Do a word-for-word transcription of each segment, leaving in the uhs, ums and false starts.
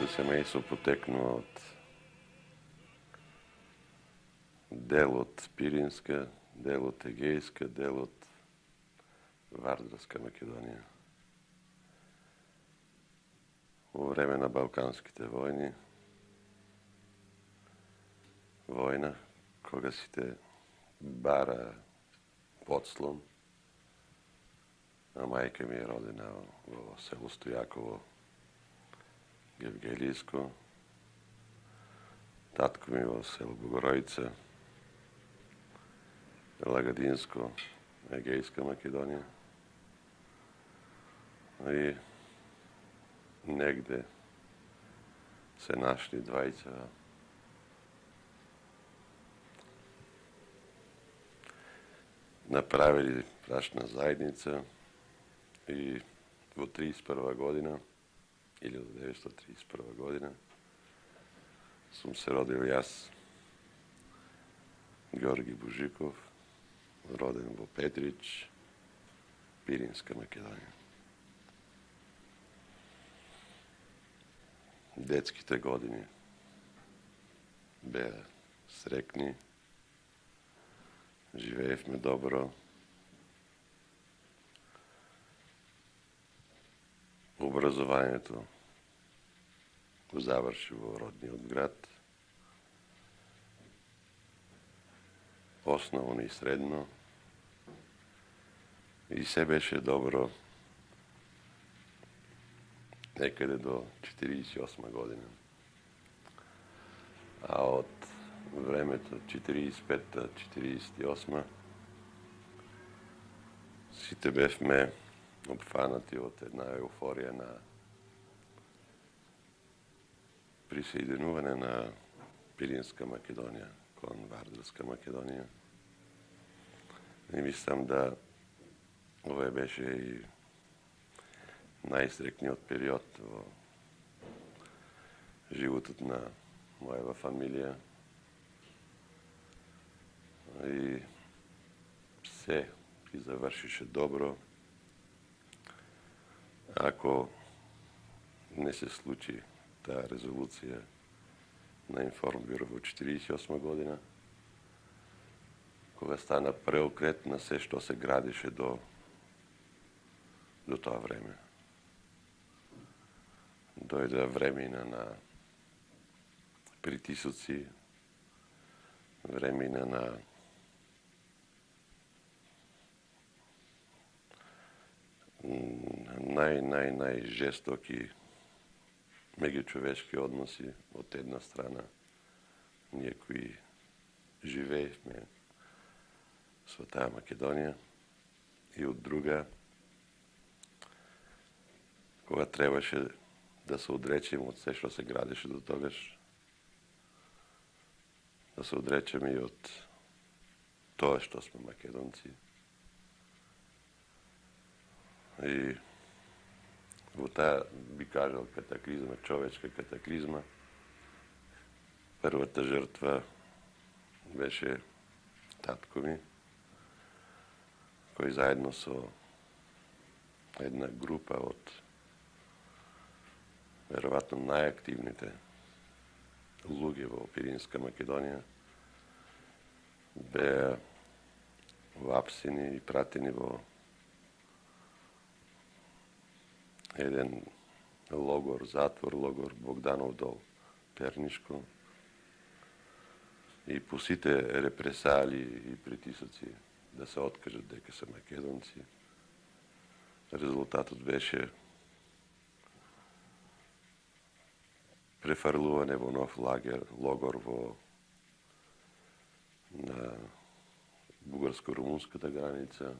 семејство потекнува од дел од Пиринска, дел од Егејска, дел од Вардарска Македонија. Во време на Балканските војни, војна, кога сите бара подслон, а мајка ми е родена во село Стојаково, Гевгелијско, татко ми во село Богоројица, Лагадинско, Егејска Македонија. И негде се нашли двајца направили брачна заедница и во триесет и прва година, илјада деветстотини триесет и прва година, сум се родил јас, Георги Бужиков, роден во Петрич, Пиринска Македонија. Детските години беа срекни, живеевме добро. Образованието го заврши во родниот град. Основно и средно. И се беше добро некаде до четиридесет и осма година. А од времето четиридесет и петта - четиридесет и осма сите бевме опфанати од една еуфорија на присоединување на Пиринска Македонија кон Вардарска Македонија. И мислам да ова беше и најстрекниот период во животот на мојава фамилија. И се ги завршише добро. Ако не се случи таа резолуција на Информбюро во четиридесет и осма година, кога стана преокрет на се што се градише до до тоа време. Дојде времена на притисоци, времена на нај, нај, најжестоки меѓучовечки односи од една страна, ние кои живеевме со таа Македонија, и од друга, кога требаше да се одречеме од се што се градеше до тогаш, да се одречеме и од тоа што сме македонци. И во таа, би кажал, катаклизма, човечка катаклизма, првата жртва беше татко ми, кој заедно со една група од веројатно најактивните луѓе во Пиринска Македонија беа вапсени и пратени во еден логор, затвор, логор Богданов дол, Пернишко. И по сите репресали и притисоци да се откажат дека се македонци, резултатот беше префрлување во нов лагер, логор во на бугарско-румунската граница.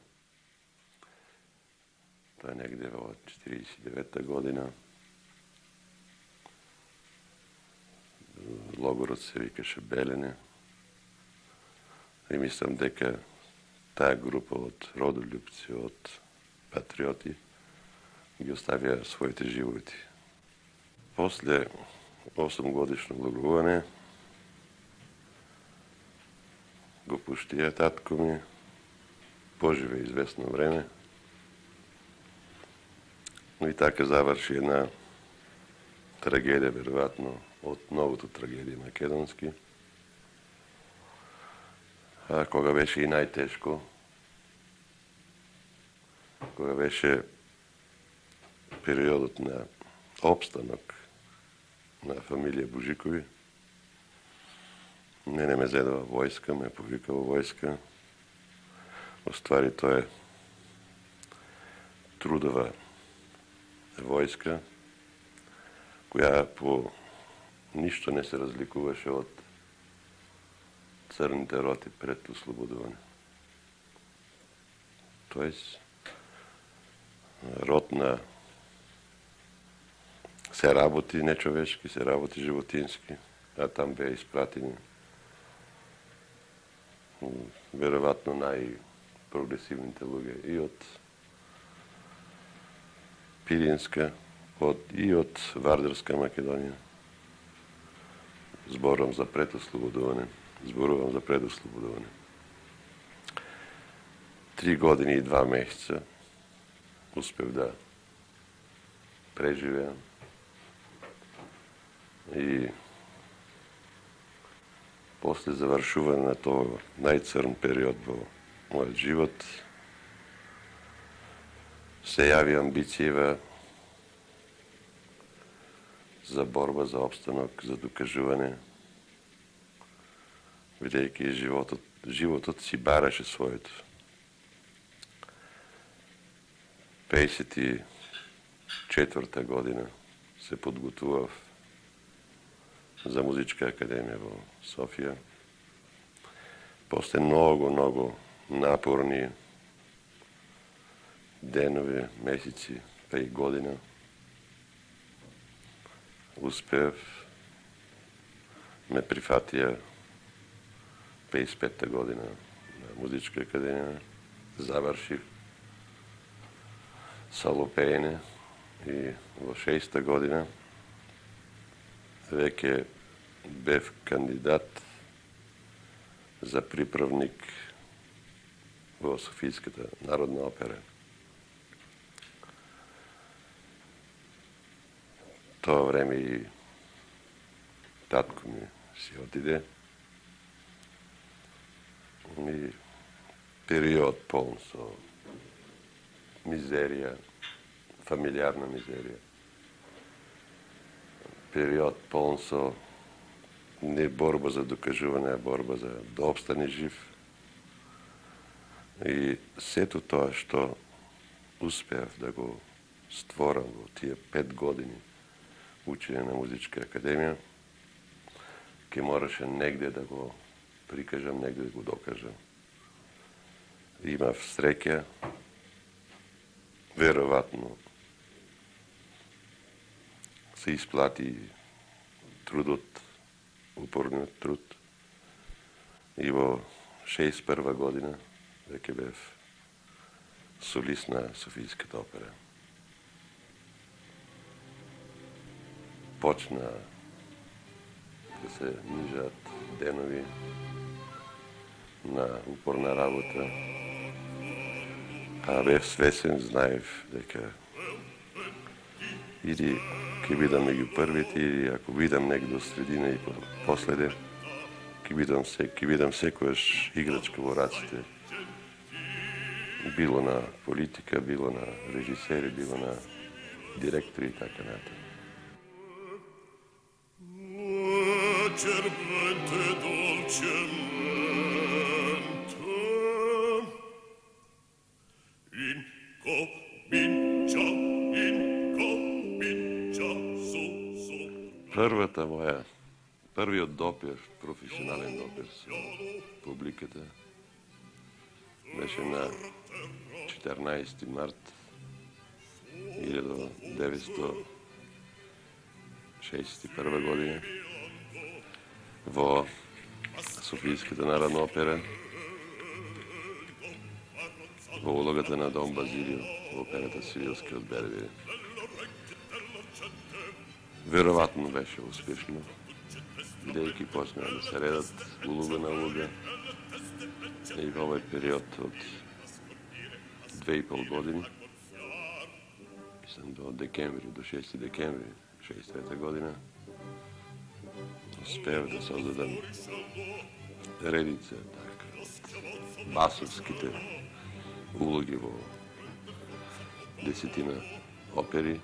Тоа е негде во четиридесет и девета година. Логорот се викаше Белене. И мислам дека таа група од родолюбци, од патриоти, ги оставија своите животи. После осумгодишно лагување го пуштија татко ми, поживе известно време. И така заврши една трагедија, веројатно, од новото трагедија македонски. А кога беше и најтешко, кога беше периодот на обстанок на фамилија Божикови, мене ме зедува војска, ме повика во војска. Оствари тоа е трудова војска, која по ништо не се разликуваше од црните роти пред ослободување. Тоест, рот на се работи нечовешки, се работи животински, а там беа испратени веројатно најпрогресивните луѓе и од Пиринска, од, и од Вардарска Македонија. Зборувам за предослободување. Зборувам за предослободување. Три години и два месеца успев да преживеам и после завршување на тоа најцрн период во мојот живот се јави амбицијава за борба за опстанок, за докажување, бидејќи животот, животот си бараше своето. пеесет и четврта година се подготував за Музичка академија во Софија. После многу, многу напорни денови, месеци, па и година, успев, ме прифатија пеесет и петта година на Музичка академија, завршив салопеене и во шеста година веќе бев кандидат за приправник во Софијската народна опера. Тоа време и татко ми си отиде. И период полн со мизерија, фамилиарна мизерија. Период полн со не борба за докажување, а борба за да обстане жив. И сето тоа што успеав да го створам во тие пет години учење на Музичка академија, ке мораше негде да го прикажам, негде да го докажам. Имав среќа, веројатно се исплати трудот, упорниот труд. И во шеесет и прва година веќе бев солист на Софијската опера. Почна да се нижат денови на упорна работа, а бев свесен, знаев дека или ќе бидам меѓу првите, или ако бидам негде до средина и последен, ќе бидам, ќе бидам секојаш играчка во раците, било на политика, било на режисери, било на директори и така натаму. Првата моја, првиот допир, професионален допир со публиката беше на четрнаесети март илјада деветстотини шеесет и прва година во Софијската народна опера во улогата на Дон Базилио во операта Сивилскиот Бербери. Веројатно беше успешно, бидејќи почнаа да се редат улога на улога и во овој период од две и пол години, мислам до декември, до шести декември шеесет и трета година. Успеав да создадам редица така, басовските улоги во десетина опери.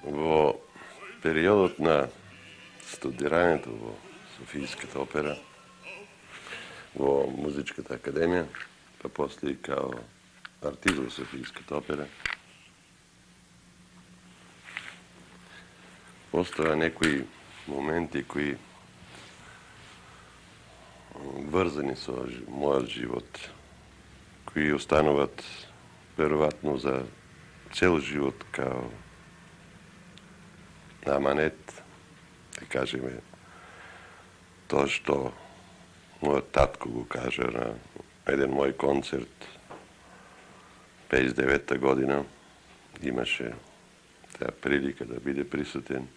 Во периодот на студирањето во Софијската опера, во Музичката академија, па после и као артист во Софијската опера, постоја некои моменти кои врзани со мојот живот, кои остануваат веројатно за цел живот као аманет, да кажеме, тоа што мојот татко го кажа на еден мој концерт пеесет и девета година, имаше таа прилика да биде присутен.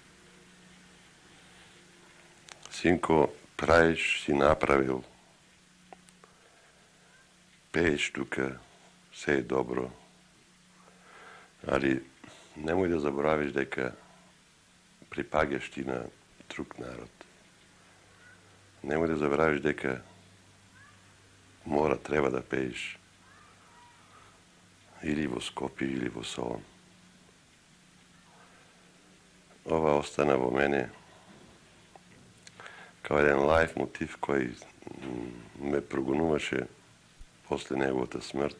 Синко, правиш, си направил, пееш тука, се е добро, али немој да заборавиш дека припагаш ти на друг народ. Немој да заборавиш дека мора, треба да пееш или во Скопје, или во Солун. Ова остана во мене као еден лајф мотив кој ме прогонуваше после неговата смрт.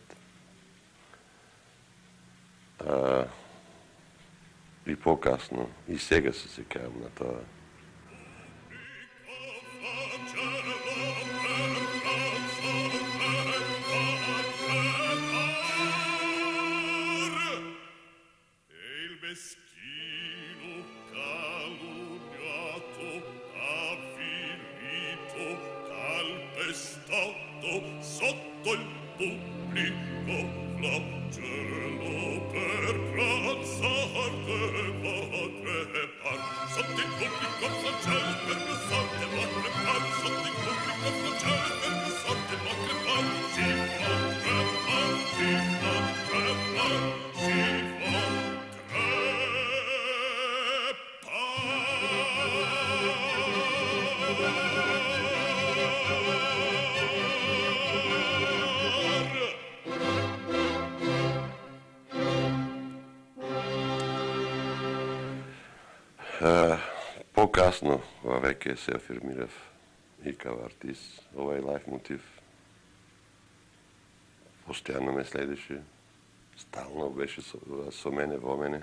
А, и покасно, и сега се сеќавам на тоа. Sotto il pubblico flagello per pranzar deva crepar. Sotto il pubblico flagello per pranzar deva crepar. Sotto il pubblico flagello per pranzar deva crepar. Si fa crepar, si fa crepar, si fa Покасно веќе се афирмирав и као артист. Овај лајф мотив постојано ме следеше, стално беше со, со мене, во мене.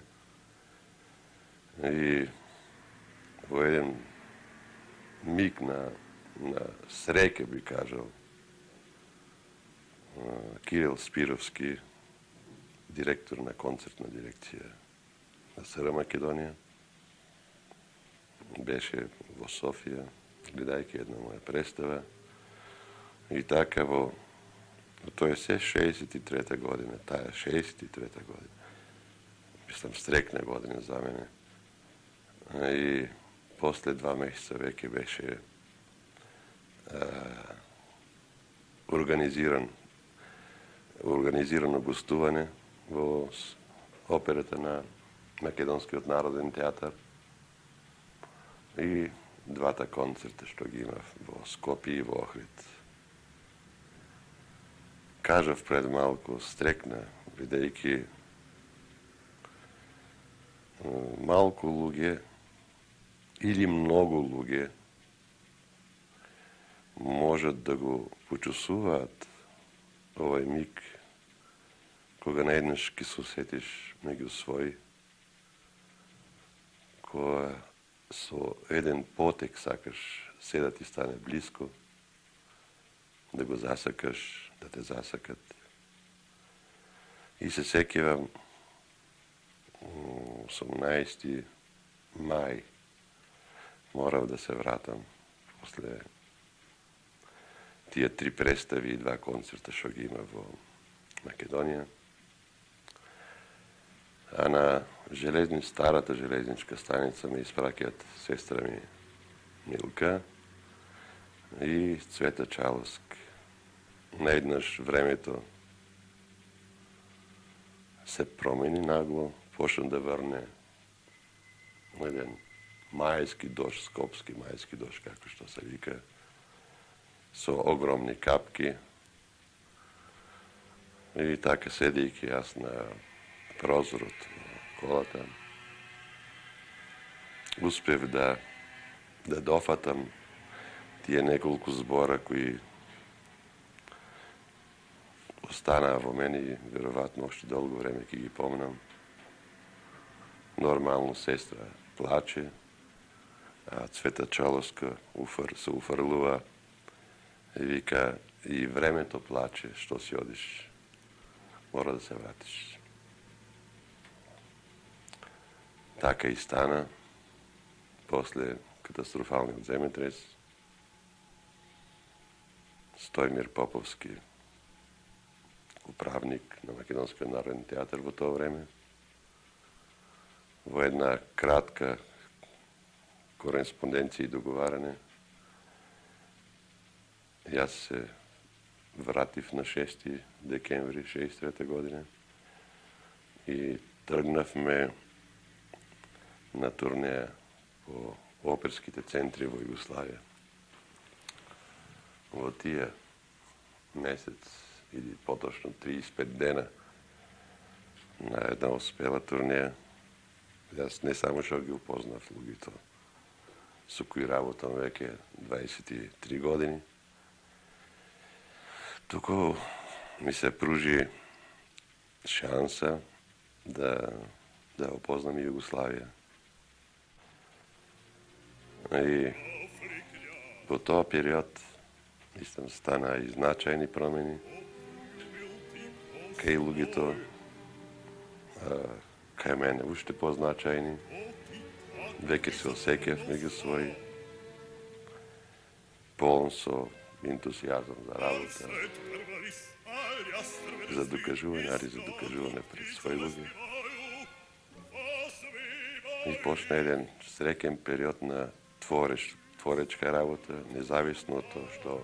И во еден миг на, на среќа би кажал, Кирил Спировски, директор на концертна дирекција на СР Македонија, беше во Софија, гледајќи една моја представа. И така во, тоа е се шеесет и трета година, таа шеесет и трета година. Мислам, стрекна година за мене. И после два месеца веќе беше а, организиран организирано гостување во операта на Македонскиот народен театар. И двата концерта што ги имав во Скопје и во Охрид. Кажав пред малку, стрекна, бидејќи малку луѓе или многу луѓе можат да го почувствуваат овај миг кога наеднаш ќе се осетиш меѓу свој, кога со еден потек сакаш се да ти стане близко, да го засакаш, да те засакат. И се сеќавам осумнаесети мај морав да се вратам после тие три представи и два концерта што ги има во Македонија. А на железни, старата железничка станица ме испраќаат сестра ми Милка и Цвета Чалоск. Наеднаш времето се промени нагло, почна да врне еден мајски дожд, скопски мајски дожд, како што се вика, со огромни капки. И така, седејќи јас на прозорот на колата, успев да да дофатам тие неколку збора кои останаа во мене и веројатно уште долго време ќе ги помнам. Нормално сестра плаче, а Цвета Чалоска уфр, се уфрлува и вика: и времето плаче, што си одиш, мора да се вратиш. Така и стана. После катастрофалниот земјотрес, Стојмир Поповски, управник на Македонскиот народен театар во тоа време, во една кратка кореспонденција и договарање, јас се вратив на шести декември шеесет и трета година и тргнавме на турнеја по оперските центри во Југославија. Во тие месец или поточно триесет и пет дена на една успела турнеја, јас не само што ги упознав луѓето со кои работам веќе дваесет и три години, туку ми се пружи шанса да да опознам и Југославија. И во тоа период мислам стана и значајни промени кај луѓето, кај мене уште позначајни. Веќе се осеќав меѓу своји, полн со ентусијазам за работа, за докажување, али за докажување пред своји луѓе. И почна еден среќен период на твореч, творечка работа, независно од тоа што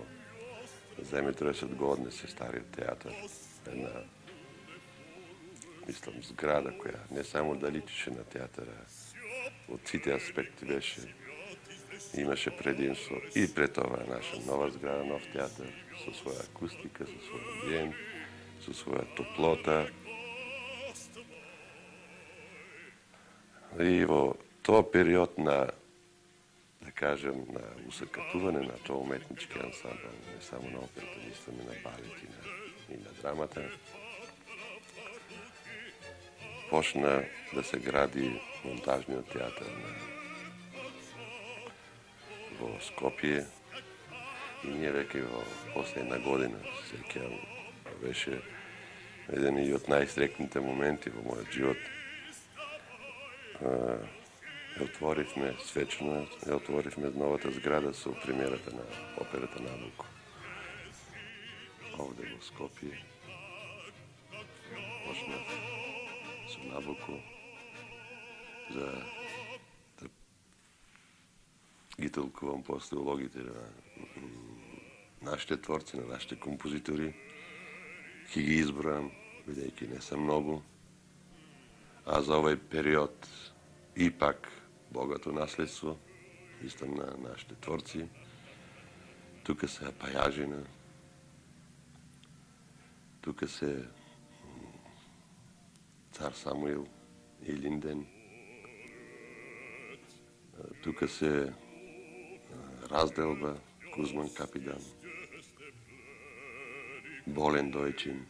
земјотресот го однесе стариот театар. Една, мислам, зграда која не само да личеше на театара, од сите аспекти беше, имаше предимство и пред ова наша нова зграда, нов театар, со своја акустика, со свој амбиент, со своја топлота. И во тоа период на, да кажем, на усакатување на тоа уметнички ансамбл, не само на операта, мислам и на балет и на, и на драмата, почна да се гради монтажниот театар на, во Скопје и ние веќе во последна година, сеќавам, беше еден и од најстрекните моменти во мојот живот. Ја отворивме свечено, ја отворивме новата зграда со премиерата на операта Набуко. Овде во Скопје почнав со Набуко за да ги толкувам после улогите на нашите творци, на нашите композитори. Ќе ги избројам, бидејќи не се многу, а за овој период ипак богато наследство, мислам на нашите творци. Тука се Пајажина, тука се Цар Самуил и Линден, тука се Разделба, Кузман Капидан, Болен Дојчин.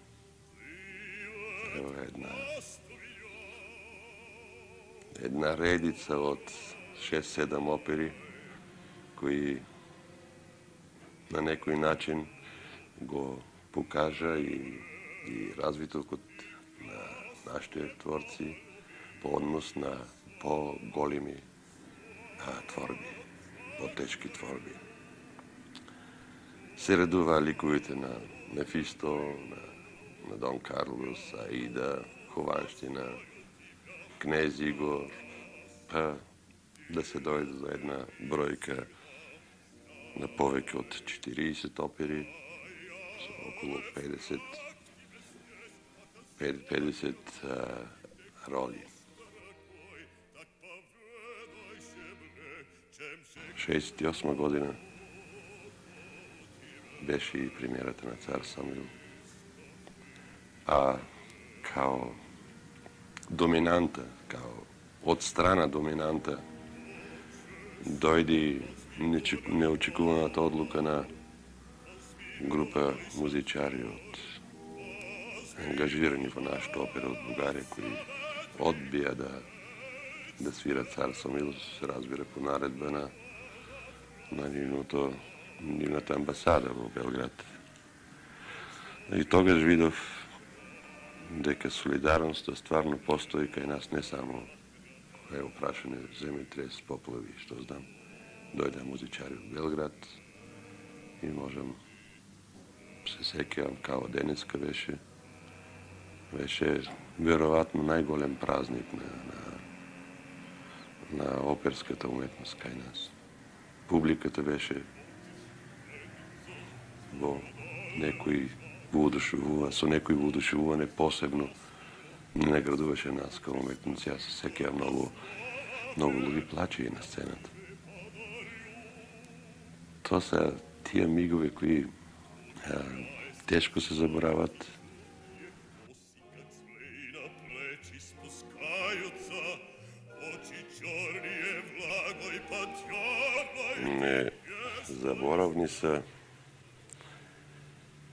Ево една една редица од шест-седам опери кои на некој начин го покажа и, и развитокот на нашите творци по однос на по-големи творби, по-тешки творби. Се редува ликовите на Мефисто, на, на Дон Карлос, Аида, Хованштина, Кнез Игор, па да се дојде до една бројка на повеќе од четириесет опери, со околу педесет, педесет а, роли. шеесет и осма година беше и премиерата на Цар Самуил, а као доминанта, као од страна доминанта, дојди неочекуваната одлука на група музичари од ангажирани во нашата опера од Бугарија, кои одбија да да свират Цар Самуил, се разбира по наредба на на нивното нивната амбасада во Белград. И тогаш видов дека солидарноста стварно постои кај нас, не само кај опрашане земјотрес, поплави, што знам. Дојде музичари од Белград и можам се сеќавам као денеска беше беше веројатно најголем празник на, на на оперската уметност кај нас. Публиката беше во некој воодушевува, со некој воодушевување посебно не наградуваше нас као уметници. Јас се сеќавам многу многу луѓе плачеја на сцената. Тоа се тие мигови кои а, тешко се заборават. Не заборавни се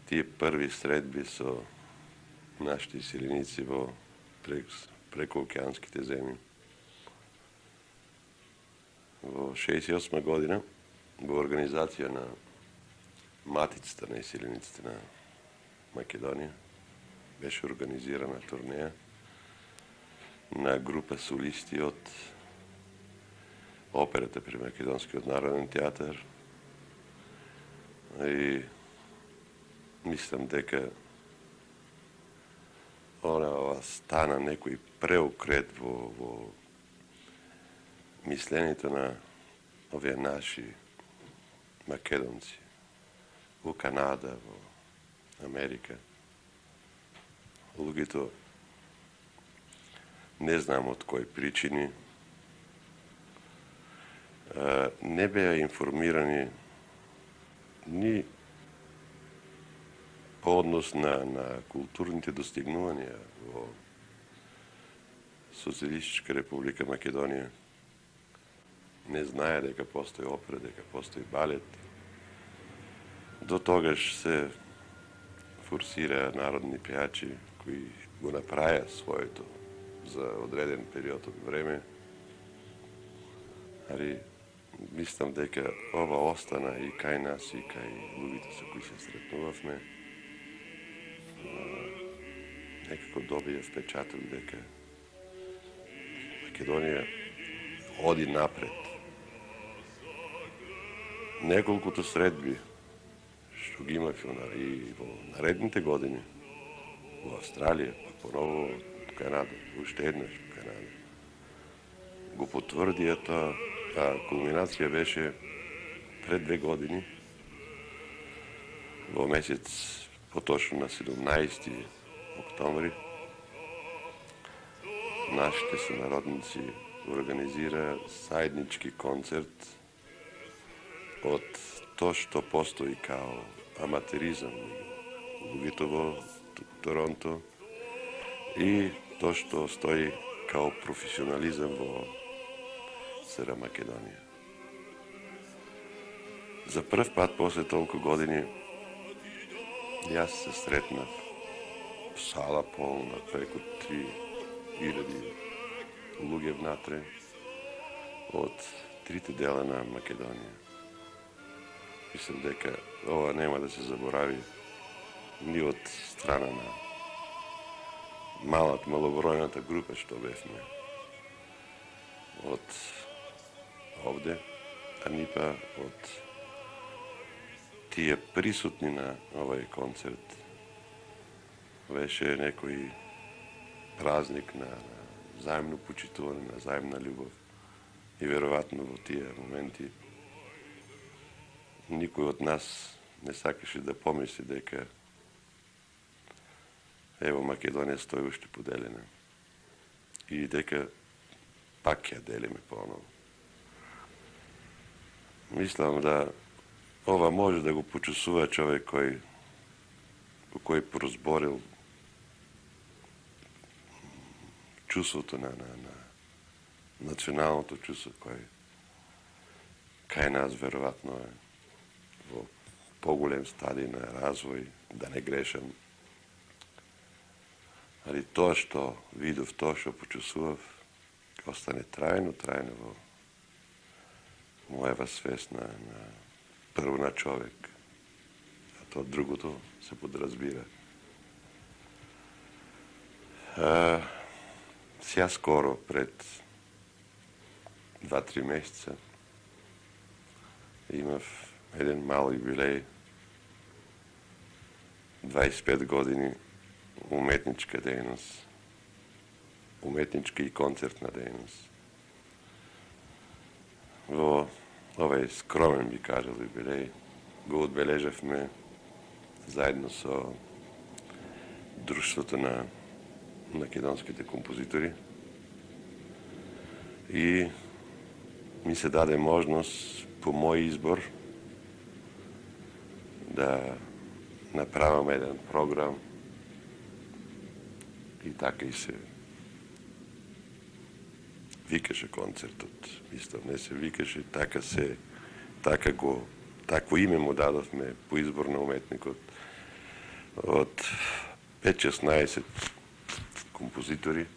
тие први средби со нашите иселеници во преко океанските земји. Во шеесет и осма година во организација на Матицата на иселениците на Македонија беше организирана турнеја на група солисти од операта при Македонскиот народен театар. И мислам дека она стана некој преокрет во, во мисленето на овие наши македонци во Канада, во Америка. Луѓето не знам од кои причини не беа информирани ни по однос на, на културните достигнувања во Социјалистичка република Македонија. Не знае дека постои опера, дека постои балет. До тогаш се форсираа народни пејачи кои го направија своето за одреден период од време. Али мислам дека ова остана и кај нас и кај луѓето со кои се сретнувавме. Некако добија впечаток дека Македонија оди напред. Неколкото средби што ги имавме и во наредните години во Австралија, па поново во Канада, уште еднаш во Канада, го потврдија тоа. А кулминација беше пред две години, во месец, поточно на седумнаесети октомври, нашите сонародници организира заеднички концерт од тоа што постои као аматеризам луѓето во Торонто и тоа што стои као професионализам во СР Македонија. За прв пат после толку години јас се сретнав сала полна, преку три илјади луѓе внатре од трите дела на Македонија. Мислам дека ова нема да се заборави ни од страна на малат, малобројната група што бевме од овде, а ни па од тие присутни на овој концерт. Беше некој празник на, на заемно почитување, на заемна љубов. И веројатно во тие моменти никој од нас не сакаше да помисли дека ево Македонија стои уште поделена и дека пак ја делиме поново. Мислам да ова може да го почувствува човек кој кој прозборил чувството на, на, на националното чувство кој кај нас веројатно е во поголем стадий на развој, да не грешам. Али тоа што видов, тоа што почувствував, остане трајно, трајно во мојава свест на, на прво на човек, а тоа другото се подразбира. А, сега скоро, пред два-три месеца, имав еден мал юбилеј, дваесет и пет години уметничка дејност, уметничка и концертна дејност. Во овој скромен, би кажал, юбилеј го одбележавме заедно со Друштвото на македонските композитори и ми се даде можност по мој избор да направам еден програм и така и се викаше концертот. Мислам, не се викаше, така се, така го, такво име му дадовме по избор на уметникот од пет-шеснаесет композитори.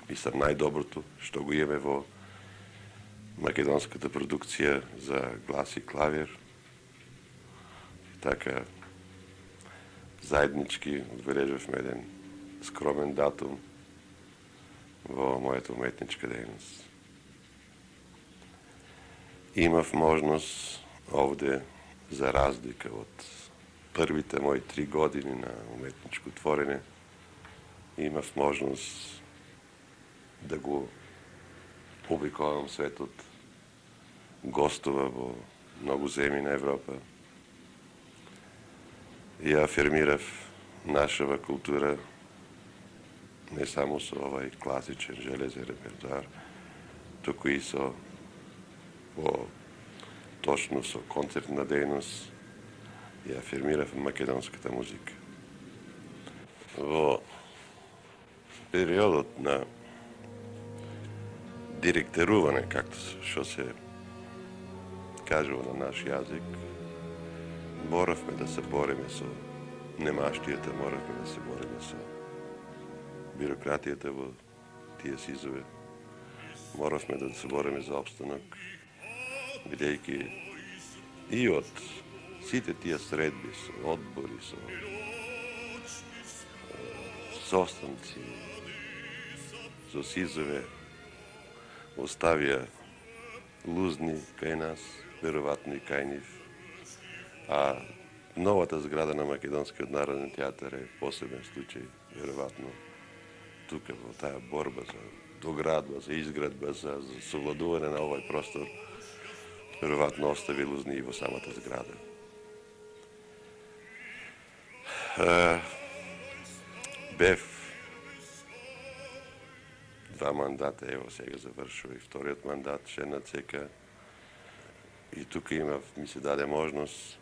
Мислам, најдоброто што го имаме во македонската продукција за глас и клавир. И така, заеднички одбележавме еден скромен датум во мојата уметничка дејност. Имав можност овде, за разлика од првите мои три години на уметничко творење, имав можност да го обикувам светот, гостува во многу земји на Европа и афирмирав нашава култура не само со овај класичен железен репертуар, туку и со во точно со концертна дејност и афирмирав македонската музика. Во периодот на директорување, както што се кажува на наш јазик, моравме да се бориме со немаштијата, моравме да се бориме со бирократијата во тие сизове. Моравме да се бориме за обстанок, бидејќи и од сите тие средби, со одбори, со состанци, со сизове, оставија лузни кај нас, веројатно и кај нив. А новата зграда на Македонскиот народен театар е посебен случај, веројатно тука во таа борба за доградба, за изградба, за, за совладување на овој простор, веројатно остави лузни и во самата зграда. А, бев два мандата, ево сега завршува и вториот мандат, ше на ЦК, и тука имав, ми се даде можност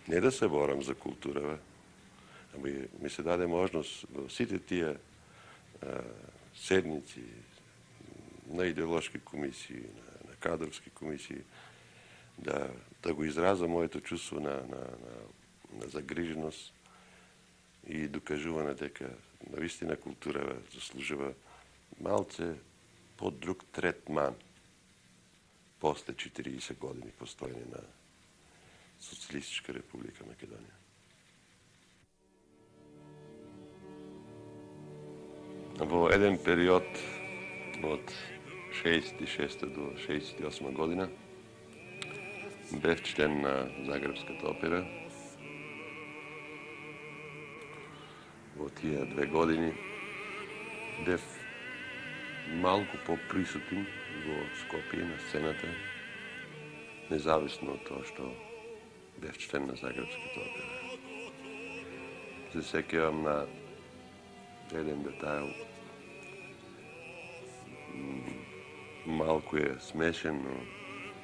не да се борам за културава, ами ми се даде можност во сите тие а, седници на идеолошки комисии, на, на кадровски комисии, да, да го изразам моето чувство на, на, на, на загриженост и докажување дека навистина културава заслужува малце под друг третман после четириесет години постојање на Социјалистичка република Македонија. Во еден период од шеесет и шеста до шеесет и осма година бев член на Загребската опера. Во тие две години бев малку поприсутен во Скопје на сцената, независно од тоа што бев член на Загребската опера. Се сеќавам на еден детайл, малку е смешен, но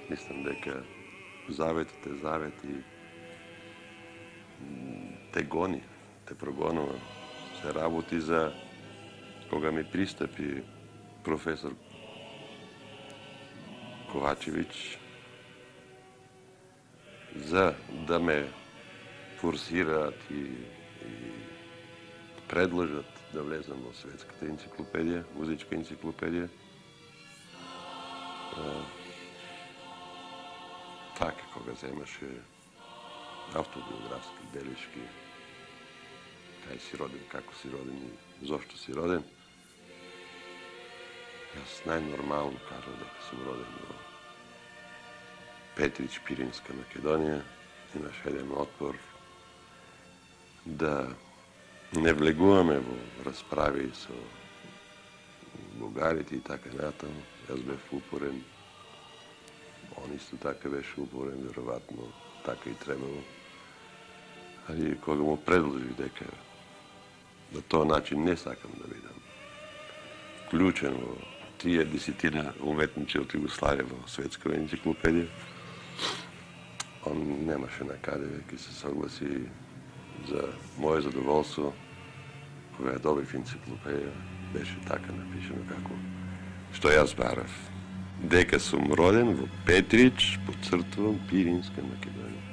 мислам дека заветот е завет и те гони, те прогонува. Се работи за кога ми пристапи професор Ковачевиќ за да ме форсираат и, и предложат да влезам во светската енциклопедија, музичка енциклопедија. Така, кога земаше автобиографски белешки, кај си роден, како си роден и зошто си роден, јас најнормално кажам дека сум роден во Петрич, Пиринска Македонија. Имаш еден отпор да не влегуваме во расправи со бугарите и така натаму. Јас бев упорен, он исто така беше упорен, веројатно така и требало. Али кога му предложи дека на тој начин не сакам да бидам вклучен во тие десетина уметници од Југославија во светска енциклопедија, он немаше на каде веќе се согласи. За моје задоволство, кога ја добив енциклопедија, беше така напишено како што јас барав. Дека сум роден во Петрич, подцртувам Пиринска Македонија.